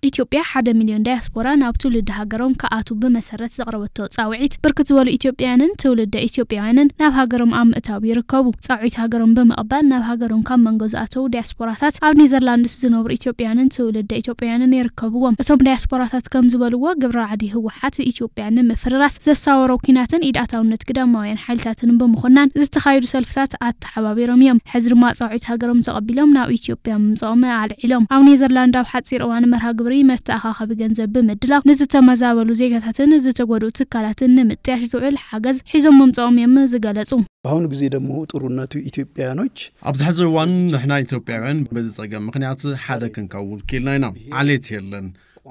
ኢትዮጵያ ሓደ ሚልዮን ዳያስፖራ ናብ ትውልዲ ሃገሮም ክኣትዉ ብመሰረት ዘቕረበቶ ጻውዒት፣ ብርክት ዝበሉ ኢትዮጵያውያንን ትውልደ ኢትዮጵያውያንን ናብ ሃገሮም ኣብ ምእታው ይርከቡ። ጻውዒት ሃገሮም ብምቕባል ናብ ሃገሮም ካብ መንጎ ዝኣተዉ ዳያስፖራታት ኣብ ኔዘርላንድስ ዝነብሩ ኢትዮጵያውያንን ትውልደ ኢትዮጵያውያንን ይርከብዎም። እቶም ዳያስፖራታት ከም ዝበልዎ፣ ግብረ ራዕዲ ህወሓት ኢትዮጵያ ንምፍርራስ ዘሳወሮ ኲናትን ኢድ ኣታውነት ግዳማውያን ሓይልታትን ብምኹናን ዝተኻየዱ ሰልፍታት ኣተሓባቢሮም እዮም። ሕዚ ድማ ጻውዒት ሃገሮም ተቐቢሎም ናብ ኢትዮጵያ ምምጽኦም ኣልዒሎም። ኣብ ኔዘርላንድ ኣብ ሓጺር እዋን መርሃ ግብሪ መተኣኻኸቢ ገንዘብ ብምድላው ንዝተመዛበሉ ዜጋታትን ዝተጎድኡ ትካላትን ንምጥያሽ ዝውዕል ሓገዝ ሒዞም ምምጽኦም እዮም ዝገለጹ። በአሁኑ ጊዜ ደግሞ ጥሩነቱ ኢትዮጵያኖች ኣብዚ ሕዚ እዋን ንሕና ኢትዮጵያውያን በዚ ጸገም ምኽንያት ሓደ ክንከውን ክኢልና ኢና። ዓሌት የለን፣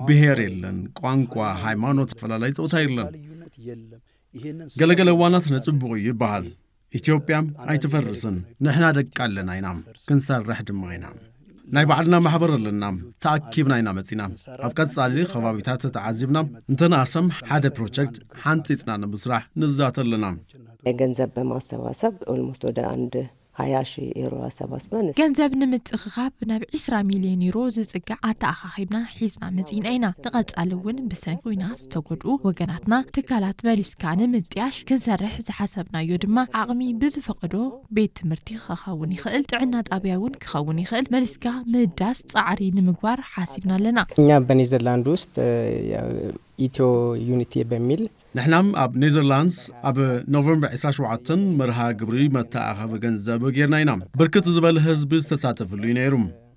ብሔር የለን፣ ቋንቋ፣ ሃይማኖት፣ ኣፈላላይ ጾታ የለን። ገለገለ እዋናት ነጽብቑ ይበሃል። ኢትዮጵያ ኣይትፈርስን። ንሕና ደቂ ኣለና ኢና፣ ክንሰርሕ ድማ ኢና። ናይ ባዕልና ማሕበር ኣለና፣ ተኣኪብና ኢና መጺና። ኣብ ቀጻሊ ከባቢታት ተዓዚብና እንተነኣሰም ሓደ ፕሮጀክት ሓንጺጽና ንምስራሕ ንዛተ ኣለና። ገንዘብ በማሰባሰብ ኦልሞስት ወደ አንድ ሀያ ሺህ ዩሮ አሰባስበን ገንዘብ ንምጥኽኻብ ናብ ዕስራ ሚልዮን ዩሮ ዝጽጋዕ ኣተኣኻኺብና ሒዝና መጺእና ኢና። ንቐጻሊ እውን ብሰንኪ ኲናት ዝተጎድኡ ወገናትና ትካላት መሊስካ ንምጥያሽ ክንሰርሕ ዝሓሰብናዮ ድማ ዓቕሚ ብዝፈቐዶ ቤት ትምህርቲ ክኸውን ይኽእል፣ ጥዕና ጣብያ እውን ክኸውን ይኽእል፣ መሊስካ ምህዳስ ጻዕሪ ንምግባር ሓሲብና ኣለና። እኛ በኔዘርላንድ ውስጥ ኢትዮ ዩኒቲ በሚል ንሕናም ኣብ ኔዘርላንድስ ኣብ ኖቨምበር ዕስራ ሸውዓተ መርሃ ግብሪ መተኣኻኸቢ ገንዘብ ጌርና ኢና። ብርክት ዝበለ ህዝቢ ዝተሳተፍሉ እዩ ነይሩ።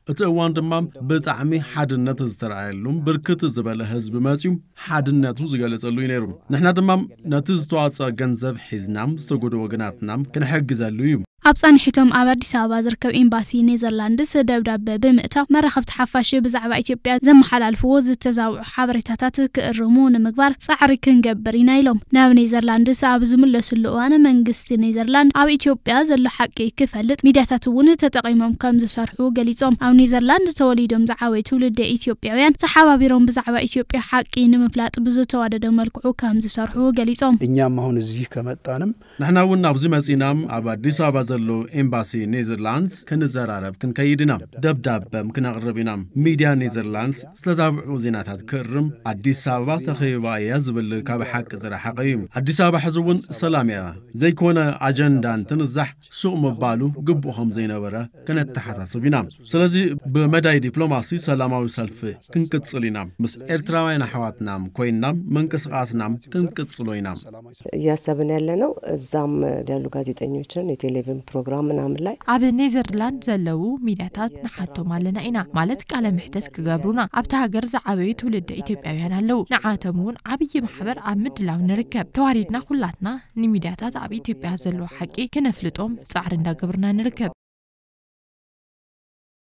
እቲ እዋን ድማ ብጣዕሚ ሓድነት ዝተረኣየሉን ብርክት ዝበለ ህዝቢ መፅዩ ሓድነቱ ዝገለጸሉ እዩ ነይሩ። ንሕና ድማ ነቲ ዝተዋፅኦ ገንዘብ ሒዝና ዝተጎድኡ ወገናትና ክንሕግዘሉ እዩ። ኣብ ፃንሒቶም ኣብ ኣዲስ ኣበባ ዝርከብ ኤምባሲ ኔዘርላንድስ ደብዳበ ብምእታው መራኸብቲ ሓፋሽ ብዛዕባ ኢትዮጵያ ዘመሓላልፍዎ ዝተዛብዑ ሓበሬታታት ክእርሙ ንምግባር ፃዕሪ ክንገብር ኢና ኢሎም። ናብ ኔዘርላንድስ ኣብ ዝምለስሉ እዋን መንግስቲ ኔዘርላንድ ኣብ ኢትዮጵያ ዘሎ ሓቂ ክፈልጥ ሚድያታት እውን ተጠቒሞም ከም ዝሰርሑ ገሊፆም። ኣብ ኔዘርላንድ ተወሊዶም ዝዓበዩ ትውልደ ኢትዮጵያውያን ተሓባቢሮም ብዛዕባ ኢትዮጵያ ሓቂ ንምፍላጥ ብዝተዋደደ መልክዑ ከም ዝሰርሑ ገሊፆም። እኛም አሁን እዚህ ከመጣንም ንሕና እውን ኣብዚ መጺእና ኣብ ኣዲስ ኣበባ ዘሎ ኤምባሲ ኔዘርላንድስ ክንዘራረብ ክንከይድ ኢና። ደብዳበም ክነቕርብ ኢና። ሚድያ ኔዘርላንድስ ዝተዛብዑ ዜናታት ክእርም ኣዲስ ኣበባ ተኸቢባ እያ ዝብል ካብ ሓቂ ዝረሓቐ እዩ። ኣዲስ ኣበባ ሕዚ እውን ሰላም እያ። ዘይኮነ ኣጀንዳ እንትንዛሕ ሱቕ ምባሉ ግቡእ ከም ዘይነበረ ከነተሓሳስብ ኢና። ስለዚ ብመዳይ ዲፕሎማሲ ሰላማዊ ሰልፊ ክንቅጽል ኢና። ምስ ኤርትራውያን ኣሕዋትና ኮይንና ምንቅስቓስና ክንቅጽሎ ኢና። እያሰብን ያለነው እዛም ያሉ ጋዜጠኞችን የቴሌቪዥን ፕሮግራም ምናምን ላይ ኣብ ኔዘርላንድ ዘለዉ ሚድያታት ንሓቶም ኣለና ኢና ማለት ቃለ ምሕተት ክገብሩና ኣብቲ ሃገር ዝዓበዩ ትውልደ ኢትዮጵያውያን ኣለዉ። ንዓቶም እውን ዓብዪ ማሕበር ኣብ ምድላው ንርከብ። ተዋሪድና ኩላትና ንሚድያታት ኣብ ኢትዮጵያ ዘለዉ ሓቂ ክነፍልጦም ጻዕሪ እንዳገብርና ንርከብ።